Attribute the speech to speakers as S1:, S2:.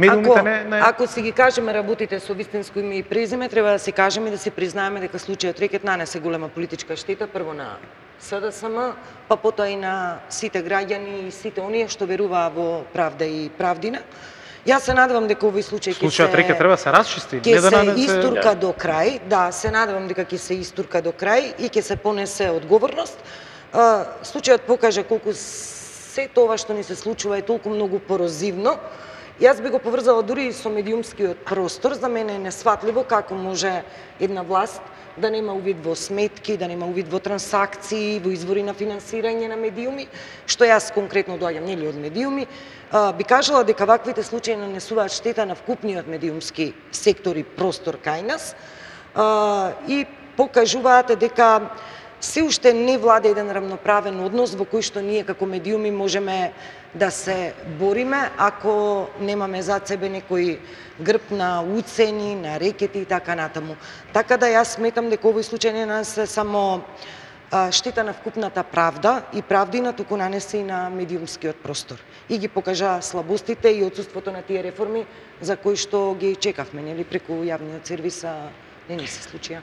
S1: медиумите не...
S2: Ако си ги кажеме работите со вистинско име и презиме, треба да си кажеме и да си признаеме дека случајот Рекет нанесе голема политичка штета, прво на СДСМ, па потоа и на сите граѓани и сите оние што веруваа во правда и правдина. Јас се надевам дека овој случај
S1: случајот Рекет треба да се расчисти,
S2: ќе се истурка до крај. Да, се надевам дека ќе се истурка до крај и ќе се понесе одговорност. Случајот покажа колку се тоа што ни се случува е толку многу порозивно. Јас би го поврзала дури и со медиумскиот простор. За мене е несфатливо како може една власт да нема увид во сметки, да нема увид во трансакции, во извори на финансирање на медиуми, што јас конкретно доаѓам нели од медиуми, би кажала дека ваквите случаи нанесуваат штета на вкупниот медиумски сектор и простор кај нас и покажуваат дека се уште не влада еден рамноправен однос во кој што ние како медиуми можеме да се бориме ако немаме зад себе некој грб на уцени, на рекети и така натаму. Така да јас сметам дека овој случај не нанесе само штета на вкупната правда и правдина, туку нанесе и на медиумскиот простор. И ги покажа слабостите и отсуството на тие реформи за кои што ги чекавме, нели, преку јавниот сервис, не ни се случија.